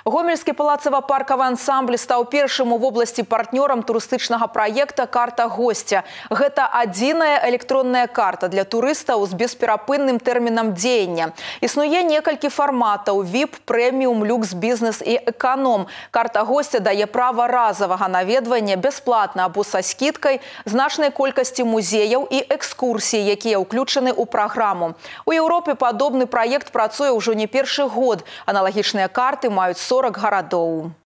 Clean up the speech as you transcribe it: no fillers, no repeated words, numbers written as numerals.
Гомельскі палацава-паркавы ансамбль стаў першым у вобласці партнёрам турыстычнага праекта «Карта гостя». Гэта адзіная электронная карта для турыстаў з бесперапынным тэрмінам дзеяння. Існуе некалькі фарматаў – VIP, прэміум, люкс, бізнес і эканом. Карта гостя дае права разовага наведвання бясплатна або са скідкай, значнай колькасці музеяў і экскурсій, якія ўключаны ў праграму. У Еўропе падобны праект працуе ўжо не першы год. Аналагічныя карты маюць 40 гарадоў.